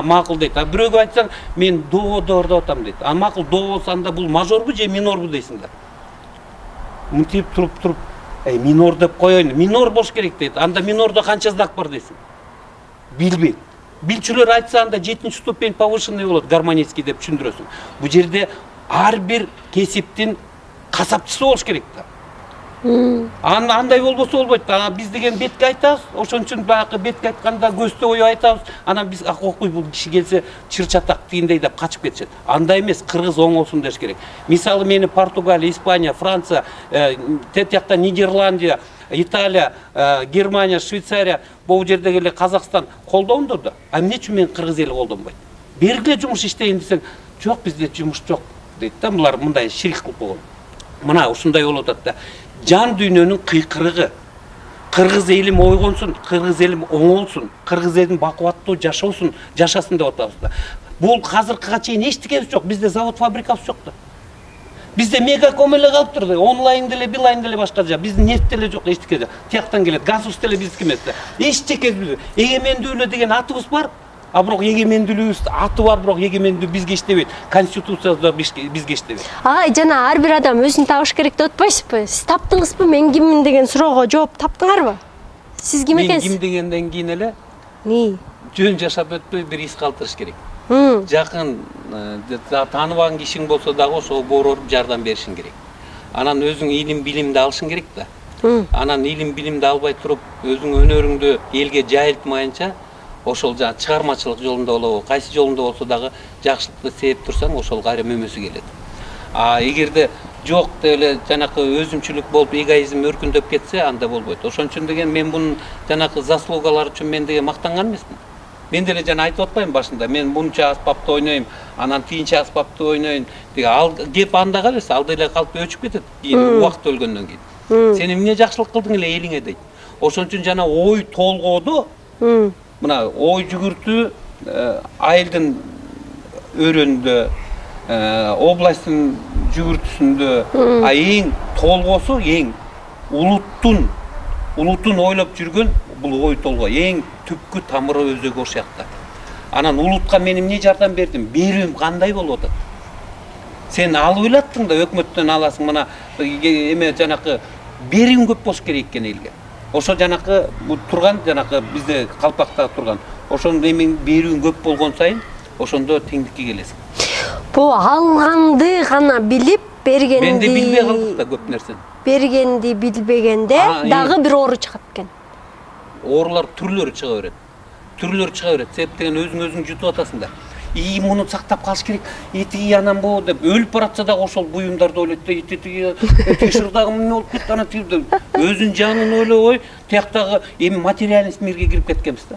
Макул дейт. А бирөөгө айтсаң, мен до ырдап атам дейт. А макул до болсо анда бул мажорбу же минорбу дейсиң да. Мынтип туруп, минор деп коеюн. Минор болуш керек дейт. Анда минордо канча знак бар дейсиң? Билбейт. Билчүлөр айтса анда 7-чи ступень повышенный болот, гармонический деп түшүндүрөсүң. Бул жерде ар бир кесиптин касапчысы болуш керек да. Андай болбосо болбойт. Биз деген бетке айтабыз, ошон үчүн баягы бетке айтканда көстө ою айтабыз. Анан биз окуй бул киши келсе чыр-чатак тигиндей деп качып кетишет. Андай эмес, кыргыз оңолсун деш керек. Мисалы мени Португалия, Испания, Франция, тет жакта Нидерландия, Италия, Германия, Швейцария, бул жердеги эле Казакстан колдондур да. А эмне үчүн мен кыргыз эли колдонбойт? Бергиле жумуш иштейин десең, жок бизде жумуш жок дейт да. Булар мындай ширик кылып койгон. Мына ушундай болуп атат да. Жан дүйнөнүн кыйкырыгы. Кыргыз элим ойгонсун, кыргыз элим оңолсун, кыргыз элим бакубаттуу жашасын деп атабыз да. Бул азыркыга чейин эчтекебиз жок. Бизде завод, фабрикабыз жок да. Бизде мегаком эле калыптыр да. Онлайн деле, билайн деле башка жа. Биздин нефт деле жок, эчтеке жок. Тияктан келет, газ деле биздики эмес да. Эчтекебиз. Эгемендүүлүк деген атыбыз бар. А бирок эгемендүүлүгүбүз аты бар, бирок эгемендүү бизге иштебейт. Конституция да бизге иштебейт. Жана ар бир адам өзүн табыш керек деп атпайсызбы? Сиз таптыңызбы, мен киммин деген суроого жооп таптыңарбы? Сиз ким экенсиз? Мен ким дегенден кийин эле жөн жашап өтпөй бир ис калтырыш керек. Жакын тааныбаган кишиң болсо дагы ошого борооп жардам беришиң керек. Анан өзүң илим билимди алышың керек да. Анан илим билимди албай туруп, өзүң өнөрүңдү элге жайылтмайынча ошол жана чыгармачылык жолунда болобу, кайсы жолунда болсо дагы жакшылыкты сээп турсаң, ошол кайра мөмөсү келет. Эгерде жок деп эле жанакы өзүмчүлүк болуп, эгоизм өркүндөп кетсе, анда болбойт. Ошон үчүн деген мен бунун жанакы заслугалары үчүн мен деген мактанган эмесмин. Мен деле жана айтып атпайм башында, мен мунча аспапты ойнойм, анан тийинче аспапты ойнойм деген. Ал кеп анда калбайсыз, ал деле калып өчүп кетет кийин убакыт өлгөндөн кийин. Сен эмне жакшылык кылдың эле элиңе дейт. Ошон үчүн жана ой толгоодо мына ой жүгүртүү айылдын өрөөнүндө, областтын жүгүртүүсүндө, эң толгоосу эң улуттун ойлоп жүргөн бул ой толгоо эң түпкү тамыры өзөгү ошол жакта. Анан улутка мен эмне жардам бердим? Берүүм кандай болуп атат? Сен алып элаттың да өкмөттөн аласың, мына эме жанакы берүүң көп болуш керек экен элге. Ошо жанакы турган жанакы бизде калпакта турган. Ошондо эми берүүң көп болгон сайын ошондо теңдикке келесиң. Бул алганды гана билип бергенди. Мен де билбей калдык да көп нерсени. Бергенди билбегенде дагы бир оору чыгат экен. Оорулар түрлөрү чыга берет. Себеп деген өзүң жутуп атасың да. Муну сактап калыш керек. Этиги анан бу деп өлүп баратса дагы ошол буюмдарды ойлойт да, этиги шырдагы эмне болуп кетти ана тип өзүнүн жанын ойлобой, тияктагы эми материалист мирге кирип кеткенбиз да.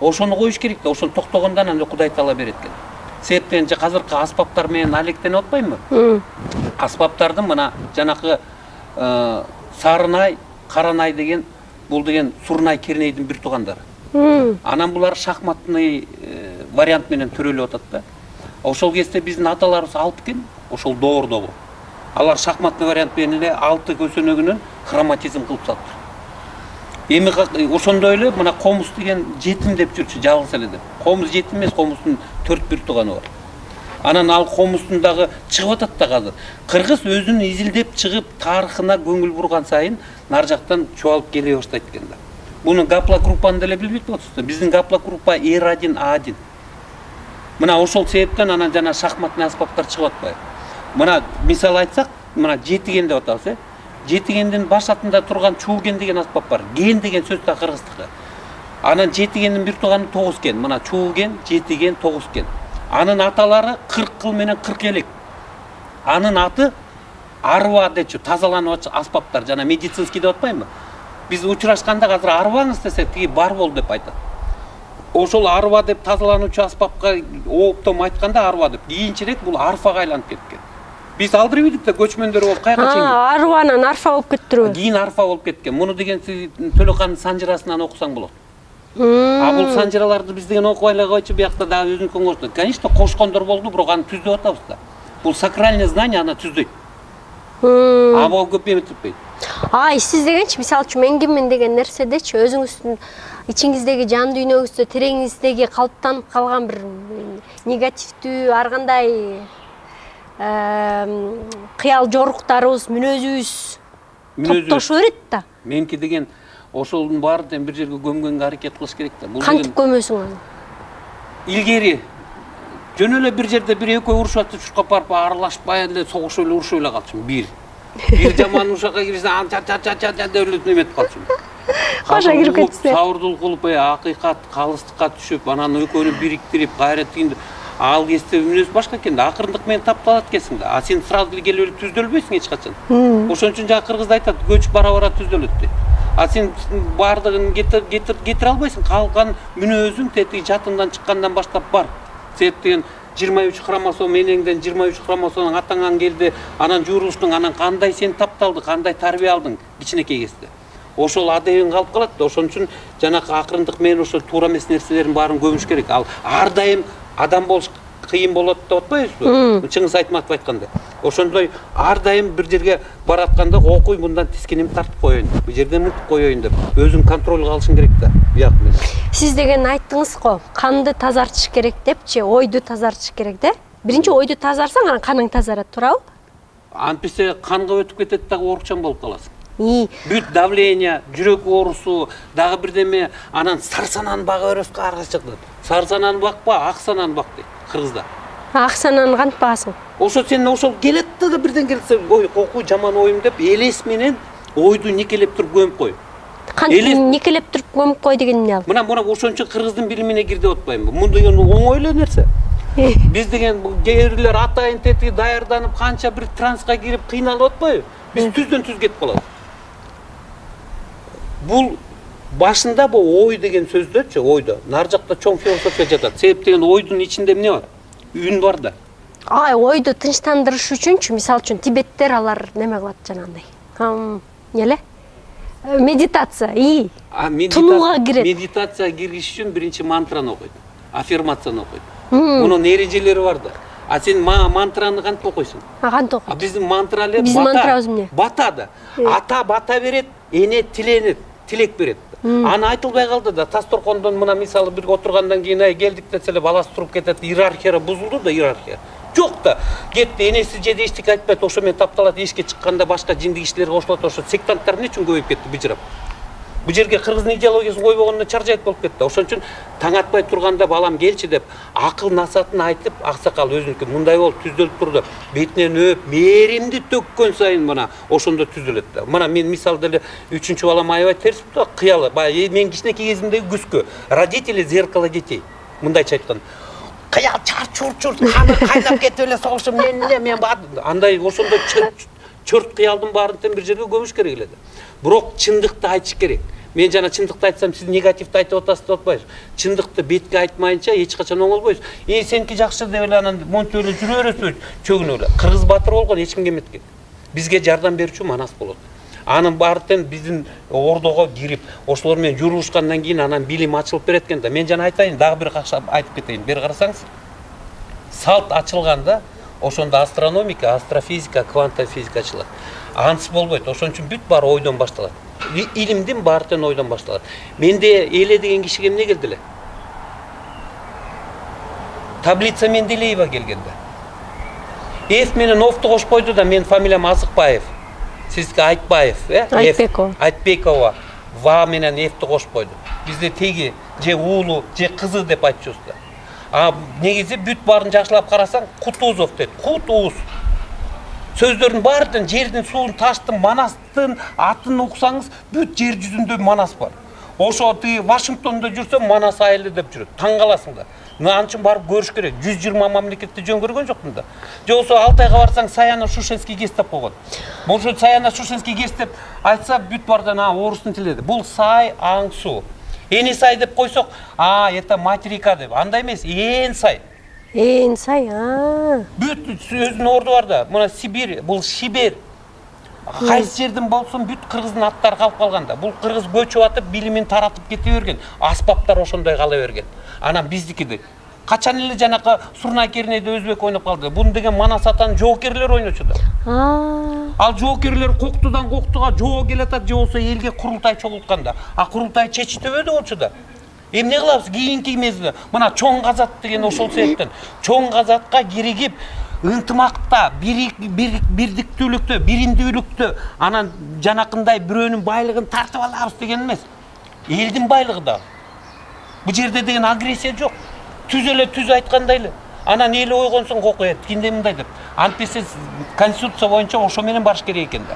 Ошону коюш керек да, ошону токтогондо анан Кудай таала берет экен. Себеп деген азыркы аспаптар менен алектенип атпаймынбы? Аспаптардын мына жанакы Сарынай, Каранай деген бул деген Сурнай, Кернейдин бир туугандары. Анан булар шахматный вариант менен төрөлүп атат да. Ошол кезде биздин аталарыбыз алып экен, ошол доордогу. Алар шахматный вариант менен эле 6 көсөнөгүнөн хроматизм кылып салыптыр. Эми ошондой эле мына Комуз деген жетим деп жүрчү, жалгыз эле деп. Комуз жетим эмес, Комуздун 4 тууганы бар. Анан ал Комуздун дагы чыгып атат да азыр. Кыргыз өзүн изилдеп чыгып, тарыхына көңүл бурган сайын нар жактан чоалып келе баштайт экен да. Буну гаплогруппаны деле билбейт болсуздар. Биздин гаплогруппа R1, A1. Мына ошол себептен анан жана шахматный аспаптар чыгып атпайбы. Мына мисал айтсак, мына жетиген деп атабыз, жетигендин баш атында турган чууген деген аспап бар. Ген деген сөз да кыргыздыкы. Анан жетигендин бир тууганы 9 ген. Мына чууген, жетиген, 9 ген. Анын аталары 40 кыл менен 40 элек. Анын аты арба дечү, тазалануучу аспаптар, жана медицинский деп атпаймынбы? Биз учурашканда азыр арбаңыз десек, тиги бар бол деп айтат. Ошол арба деп тазалануучу аспапка оптом айтканда арба деп. Кийинчерээк бул арфага айланып кеткен. Биз алдырып ийдик да көчмөндөр болуп кайга чейин. Арбанан арфа болуп кеттирби? Кийин арфа болуп кеткен. Муну деген сиз Төлөкандын санжырасынан окусаң болот. Бул санжыраларды биз деген окубай эле койчу, биякта дагы өзүнүн коңгошту. Конечно, кошкондор болду, бирок аны түздөп атабыз да. Бул сакральный знание аны түздөйт. Або көп эметпейт. Сиз дегенчи, мисалы үчүн эңгимин деген нерседечи өзүңүздүн ичиңиздеги жан дүйнөңүздө, тереңиңиздеги калыптанып калган бир негативдүү, ар кандай кыял жоруктарыбыз, мүнөзүбүз топтошо берет да. Меники деген ошолдун баарын бир жерге көмгөнгө аракет кылыш керек да. Кантип көмөсүң аны? Илгери жөн эле бир жерде бир экөө урушуп атып, чуркап барып аралашпай эле согушуп эле урушуп эле калчумун. Бир жаман ушакка кирсе, ча деп эле эметип калчумун. Кошо кирип кетсе. Сабырдуулук кылып, акыйкат, калыстыкка түшүп, анан экөөнү бириктирип, кайра тигинде ал кезде мүнөз башка экен да, акырындык менен тапталат экенсиң да. Сен сразу эле келип эле түздөлбөйсүң эч качан. Ошон үчүн жана кыргызда айтат, көч бара-бара түздөлөт дейт. Сен бардыгын кетире албайсың, калган мүнөзүң тетиги жатындан чыккандан баштап бар. Себеп деген 23 хромосом энеңден 23 хромосомдон атаңан келди, анан жуурулуштуң, анан кандай сен тапталды, кандай тарбия алдың кичинекей кезде. Ошол адебиң калып калат да. Ошон үчүн жанакы акырындык менен ошол туура эмес нерселердин баарын көмүш керек. Ал ар дайым адам болуш кыйын болот деп атпайбызбы? Чыңгыз Айтматов айткандай. Ошондой ар дайым бир жерге баратканда окуй, мындан тискенемди тартып коеюн, бул жерден мынтип коеюн деп өзүң контролго алышың керек да. Бияк менен. Сиз деген айттыңыз го, канды тазартыш керек депчи, ойду тазартыш керек да. Биринчи ойду тазарсаң, анан каның тазарат, туурабы? Антпесе канга өтүп кетет дагы оорукчан болуп каласың. Бүт давление, жүрөк оорусу, дагы бирдеме, анан сарсананы бага бересиң, аргачак дейт. Сарсананы бакпа, ак сананы бак дейт кыргызда. Ак сананы кантип багасың? Ошо сен ошол келет да бирден келсе, ой, окуй жаман оюм деп элес менен ойду никелеп туруп көмүп кой. Кантип никелеп туруп көмүп кой деген эмне ал? Мына ошон үчүн кыргыздын билимине кир деп атпаймынбы? Мун деген оңой эле нерсе. Биз деген кээрлер атайын тетиги даярданып, канча бир транска кирип кыйналып атпайбы? Биз түздөн түз кетип калабыз. Бул башында бул ой деген сөздөрчү, ойдо нар жакта чоң философия жатат. Себеп деген ойдун ичинде эмне бар? Үн бар да. Ойду тынчтандырыш үчүнчү, мисалы үчүн тибеттер алар неме кылат жанагындай. Эле? Медитация, тунууга кирет. Медитация киргиш үчүн биринчи мантраны окуйт, аффирмацияны окуйт. Мунун эрежелери бар да. А сен мантраны кантип окуйсуң? Кантип окуйт? Биздин мантралар биздин мантрабыз эмне? Бата да. Ата бата берет, эне тиленет, тилек берет. Аны айтылбай калды да. Тасторкондон мына мисалы бир отургандан кийин келдик десе баласы туруп кетет, иерархия бузулду да, иерархия. Жок да. Кетти, энеси жеде эчтеке айтпайт, ошо менен тапталат, эшикке чыкканда башка жиндик кишилерге кошулат, ошо сектанттар эмне үчүн көбөйүп кетти быжырап. Бу жерге кыргыздын идеологиясын койбогондо чаржайт болуп кетти. Ошон үчүн таң атпай турганда балам келчи деп акыл насаатын айтып, аксакал өзүнүкү мындай болуп түздөлүп турду. Бетинен өп, мээримди төккөн сайын мына ошондо түзүлөт да. Мына мен мисал деле 3-чү балам аябай терсип да, кыялы. Баягы мен кичинекей кезимдеги күскө. Родители зеркало детей. Мындайча айтканда. Кыял чар-чур, каны кайнап кетип эле согушу мен андай ошондо чөрт кыялдын баарын тең бир жерге көмүш керек эле да. Бирок чындыкты айтыш керек. Мен жана чындыкты айтсам сиз негативди айтып атасыз деп атпайсыз. Чындыкты бетке айтмайынча эч качан оңолбойсуз. Сеники жакшы деп эле анан монтип эле жүрө бересиз, чөгүнүп эле. Кыргыз баатыр болгон эч кимге эметкен. Бизге жардам берүүчү манас болот. Анын баары тең биздин ордого кирип, ошолор менен жүрүшкандан кийин анан билим ачылып берет экен да. Мен жана айтайын, дагы бир айтып кетейин. Бери карасаңыз, салт ачылганда ошондо астрономика, астрофизика, квантовая физика ачылат. Ансыз болбойт. Ошон үчүн бүт баары ойдон башталат. Илимдин баары тең ойдон башталат. Менде Эле деген кишиге эмне келди эле? Таблица Менделеева келгенде. Эф менен Овду кошуп койду да, менин фамилиям Азыкбаев. Сизге Айтбаев, Айтбекова. Ва менен Эфти кошуп койду. Бизде теги же уулу, же кызы деп айтчубуз да. А негизи бүт баарын жакшылап карасаң, Кутузов дейт. Кутуз. Сөздөрдүн баардын жердин, суунун, таштын, манастын атын уксаңыз, бүт жер жүзүндө манас бар. Ошо тиги Вашингтондо жүрсөм, манас айылы деп жүрөт. Таң каласың да. Анын үчүн барып көрүш керек. 120 мамлекетти жөн көргөн жокмун да. Же болсо Алтайга барсаң, Саяно-Шушенский ГЭС деп койгон. Болсо Саяно-Шушенский ГЭС деп айтса, бүт бардан орустун тилиде. Бул Сай, Аңсу. Эни сай деп койсок, это материка деп. Андай эмес, ээн сай. Ээн сай, Бүт сөзүнүн орду бар да. Мына Сибирь, бул Шибер. Кайсы жерден болсун бүт кыргыздын аттары калып калганда. Бул кыргыз көчүп атып, билимин таратып кете берген. Аспаптар ошондой кала берген. Анан биздикиди. Качан эле жанакы Сурнай Кернейде өзбек ойноп калды. Буну деген Манас атанын жоокерлери ойночу да. Ал жоокерлер коктудан коктуга жоо келатат, же болсо элге курултай чогултканда. А курултай чечтебеди болчу да. Эмне кылабыз? Кийинки мезгилде мына чоң казат деген ошол себептен. Чоң казатка киригип, ынтымакта, бирдиктүүлүктө, биримдүүлүктө, анан жанакындай бирөөнүн байлыгын тартып алабыз деген эмес. Элдин байлыгы да. Бу жерде деген агрессия жок. Түз эле түз айткандай эле. Анан эл ойгонсоң кокует, кинде мындай деп. Антпесе конституция боюнча ошо менен барыш керек экен да.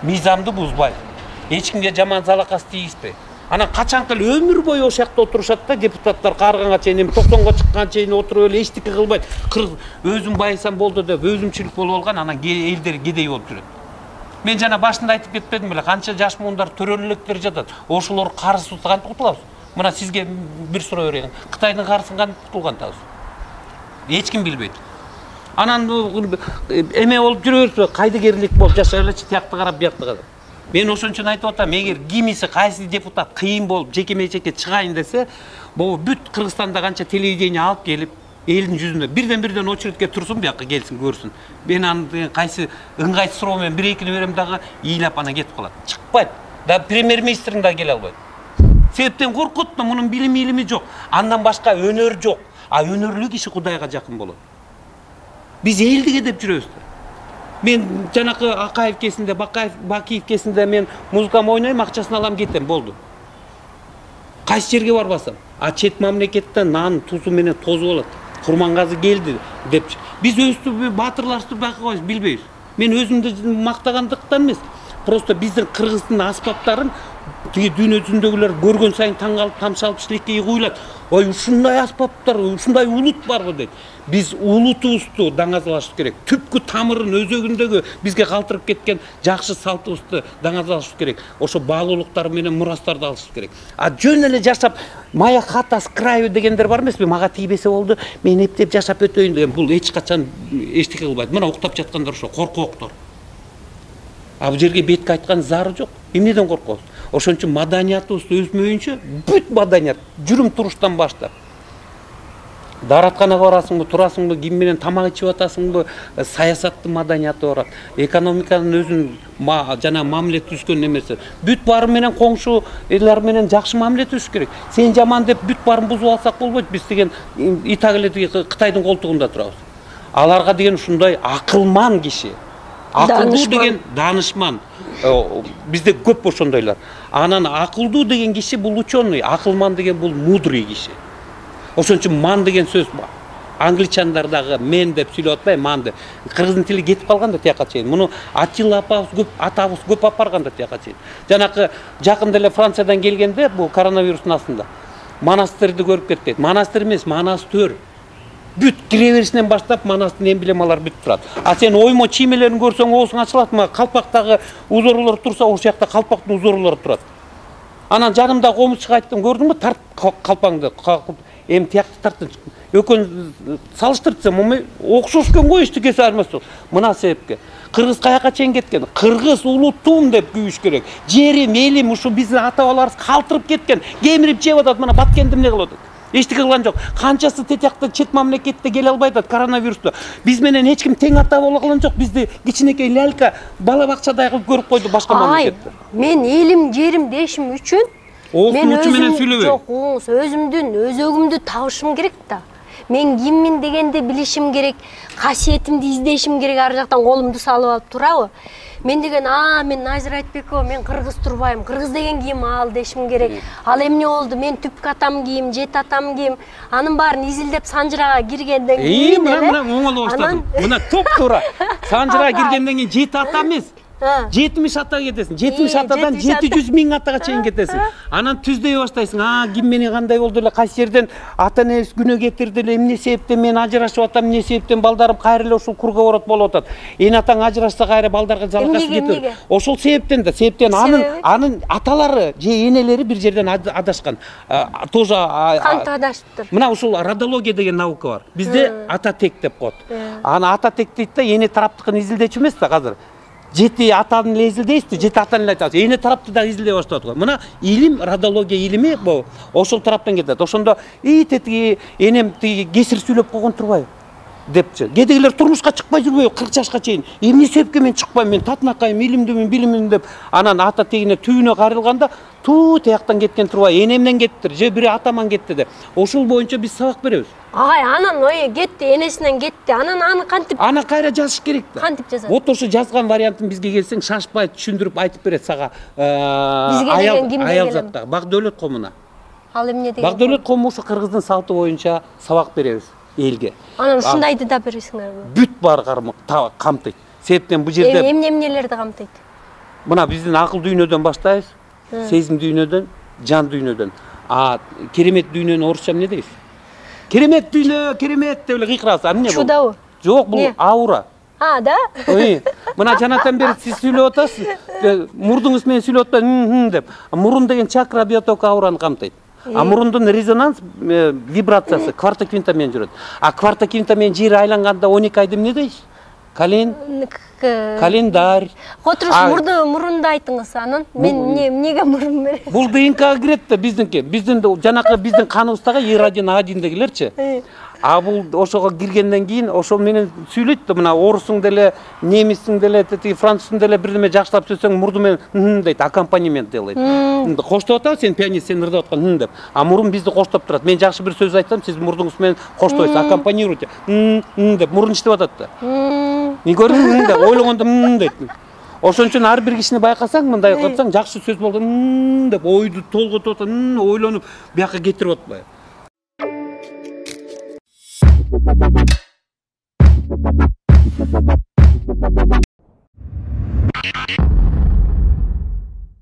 Мыйзамды бузбай, эч кимге жаман залакас тийгизбей. Анан качанкы эле өмүр бою ошол жакта отурушат да, депутаттар карыганга чейин, 90го чыкканга чейин отуруп эле эчтеке кылбайт. Өзүм байысам болду деп, өзүмчүлүк болуп алган, анан элдер кедей болуп жүрөт. Мен жана башында айтып кетпедим беле, канча жаш муундар төрөлүктөр жатат. Ошолор карызсыз кантип кутулабыз? Мына сизге бир суроо берейин. Кытайдын карызын кантип кутулган табыз? Эч ким билбейт. Анан эме болуп жүрөбүзбү? Кайдыгерлик болуп жашайлычы, тиякты карап, биякты карап. Мен ошон үчүн айтып атам, эгер кимиси кайсы депутат кыйын болуп жеке менчекке чыгайын десе, бул бүт Кыргызстанда канча телевидение алып келип, элдин жүзүндө бирден очередке турсун, бияка келсин, көрсүн. Мен аны кайсы ыңгайсыз суроо менен 1-2 берем дагы, ыйлап анан кетип калат. Чыкпайт. Да премьер-министрин да келе албайт. Себептен коркут да, мунун билими жок. Андан башка өнөр жок. А өнөрлүү киши Кудайга жакын болот. Биз элдиге деп жүрөбүз. Мен жанакы Акаев кесинде, Бакиев кесинде мен музыкам ойнойм, акчасын алам, кетем, болду. Кайсы жерге барбасам, а чет мамлекеттен нан тузу менен тозу болот. Курмангазы келди деп. Биз өзүбү баатырларыбызды байкабайбыз, билбейбиз. Мен өзүмдү мактагандыктан эмес, просто биздин кыргыздын аспаптарын тиги дүйнө жүзүндөгүлөр көргөн сайын таң калып, тамшалып шилекке куйлат. Ой, ушундай аспаптар, ушундай улут барбы дейт. Биз улутубузду даңазалашыбыз керек. Түпкү тамырын, өзөгүндөгү бизге калтырып кеткен жакшы салтыбызды даңазалашыбыз керек. Ошо баалуулуктар менен мурастарды алышыбыз керек. А жөн эле жашап, моя хата с краю дегендер бар эмеспи? Мага тийбесе болду, мен эптеп жашап өтөйүн деген. Бул эч качан эчтеке кылбайт. Мына уктап жаткандар ошо коркооктор. А бул жерге бетке айткан зары жок. Эмнеден коркобуз? Ошон үчүн маданиятыбызды өзмөйүнчө бүт маданият жүрүм туруштан баштап дааратканага барасыңбы, турасыңбы, ким менен тамак ичип атасыңбы, саясаттын маданияты барат. Экономиканын өзүнүн жана мамиле түзгөн немеси. Бүт баары менен коңшу элдер менен жакшы мамиле түзүш керек. Сен жаман деп бүт баарын бузуп алсак болбойт. Биз деген Итак эле Кытайдын колтугунда турабыз. Аларга деген ушундай акылман киши. Акылдуу деген данышман. Бизде көп ошондойлор. Анан акылдуу деген киши бул ученый, акылман деген бул мудрый киши. Ошон үчүн ман деген сөз англичандар дагы мен деп сүйлөп атпайбы, ман деп. Кыргыздын тили кетип калган да тияка чейин. Муну Атилла атабыз көп алып барган да тияка чейин. Жанакы жакында эле Франциядан келгенде бул коронавирустун астында монастырды көрүп кетти. Монастыр эмес, монастыр. Бүт кире беришинен баштап монастырдын эмблемалары бүт турат. А сен оймо чиймелерин көрсөң оозуң ачылат, калпактагы узорлор турса, ошол жакта калпактын узорлору турат. Анан жанымда комузчуга айттым, көрдүңбү, тарт калпаңды. Эми тиякты тарттым. Экөөнү салыштырсам, окшош экен го, эчтекеси айырмасы жок. Мына себепке. Кыргыз каяка чейин кеткен? Кыргыз улуттум деп күйүш керек. Жерим, элим ушу биздин ата-бабаларыбыз калтырып кеткен. Кемирип жеп атат, мына Баткенди эмне кылып атат? Эчтеке кылган жок. Канчасы тетиякта чет мамлекетте келе албай атат коронавирусту. Биз менен эч ким тең ата боло калган жок. Бизди кичинекей лялька бала бакчадай кылып көрүп койду башка мамлекетте. Мен элим, жерим дешим үчүн мен өзүм жок, өзүмдүн өзөгүмдү табышым керек да. Мен киммин дегенди билишим керек, касиетимди издешим керек, ар жактан колумду салып алып турабы? Мен деген, мен Назира Айтбекова, мен кыргыз турбайм. Кыргыз деген ким ал дешим керек. Ал эмне болду? Мен түпкү атам ким, жет атам ким? Анын баарын изилдеп Санжырага киргенден кийин мына оңоло баштадым. Мына топ туура. Санжырага киргенден кийин жет ата эмес. 70 атага кетесиң. 70 атадан 700 миң атага чейин кетесиң. Анан түздөй баштайсың. Ким мени кандай болду эле, кайсы жерден ата энебиз күнөө кетирди эле, эмне себептен мен ажырашып атам, эмне себептен балдарым кайра эле ушул круговорот болуп атат. Эне атаң ажырашса кайра балдарга жалгасы кетет. Ошол себептен да, себептен анын аталары же энелери бир жерден адашкан. Тоже кантип адашыптыр? Мына ушул родология деген наука бар. Бизде ата тек деп коет. Аны ата тек дейт да, эне тараптыкын изилдечү эмес да азыр. Жети атаны эле изилдейсизби, жети атаны эле айтасыз. Эне тарапты да изилдей баштадык го. Мына илим, родология илими бул ошол тараптан кетет. Ошондо тетиги энем тиги кесир сүйлөп койгон турбайбы депчи. Кедегилер турмушка чыкпай жүрбөйбү 40 жашка чейин. Эмне себепке мен чыкпайм, мен татынакайым, илимдүүмүн, билимдүүмүн деп. Анан ата тегине түбүнө карылганда тияктан кеткен турбайбы, энемден кеттир, же бири атаман кетти деп. Ошол боюнча биз сабак беребиз. Анан кетти, энесинен кетти. Анан аны кантип? Аны кайра жазыш керек да. Кантип жазат? Вот ошо жазган вариантын бизге келсең, шашпай түшүндүрүп айтып берет сага. Бизге деген кимден аял затта. Бакдөөлөт комуна. Ал эмне деген? Бакдөөлөт кому ушу кыргыздын салты боюнча сабак беребиз элге. Анан ушундайды да бересиңерби? Бүт бар камтыйт. Себептен бул жерде эмнелерди камтыйт? Мына биздин акыл дүйнөдөн баштайбыз. Сезим дүйнөдөн, жан дүйнөдөн. Керемет дүйнөнү орусча эмне дейсиз? Керемет дүйнө, керемет деп эле кыйкырабыз. Эмне бул? Чудабы? Жок, бул аура. Да? Мына жанатан бери сиз сүйлөп атасыз. Мурдуңуз менен сүйлөп атпайбы, деп. Мурун деген чакра, биоток, аураны камтыйт. Мурундун резонанс вибрациясы кварта-квинта менен жүрөт. Кварта-квинта менен жер айланганда 12 айды эмне дейсиз? Календарь. Котуруш мурунду айтыңыз, анан мен эмнеге мурун берем? Бул ДНК кирет да биздинки. Биздин жанакы биздин каныбыздагы Е1, А1дегилерчи. Бул ошого киргенден кийин ошол менен сүйлөйт да, мына орусуң деле, немистиң деле, француздун деле бирдеме жакшылап сөзсөң мурду менен дейт, аккомпанемент делет. Коштоп атабы, сен пианист, сен ырдап аткан деп. Мурун бизди коштоп турат. Мен жакшы бир сөз айтсам, сиз мурдуңуз менен коштойсуз, аккомпанируйте. Деп мурун иштеп атат да. Мен көрдүм деп ойлогондо дейт. Ошон үчүн ар бир кишини байкасаң, мындай кылсаң, жакшы сөз болду деп ойду толготуп атат, ойлонуп, бияка кетирип атпайбы.